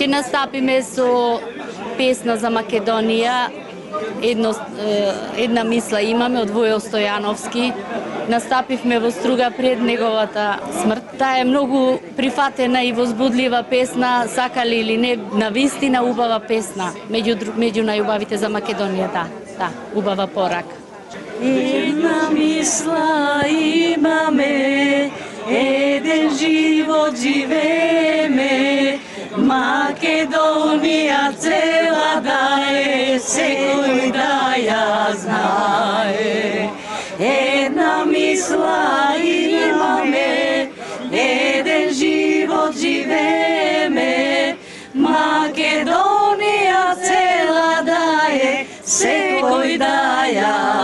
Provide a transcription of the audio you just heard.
Ќе настапиме со песна за Македонија. Една мисла имаме од Војо Стојановски. Настапивме во Струга пред неговата смрт. Таа е многу прифатена и возбудлива песна, сакали или не, навистина убава песна, меѓу најубавите за Македонија, да, убава порака. Една мисла имаме, еден живот живееме, Македонија цела да е, секој да ја знае. Една мисла имаме, еден живот живееме, Македонија цела да е, секој да ја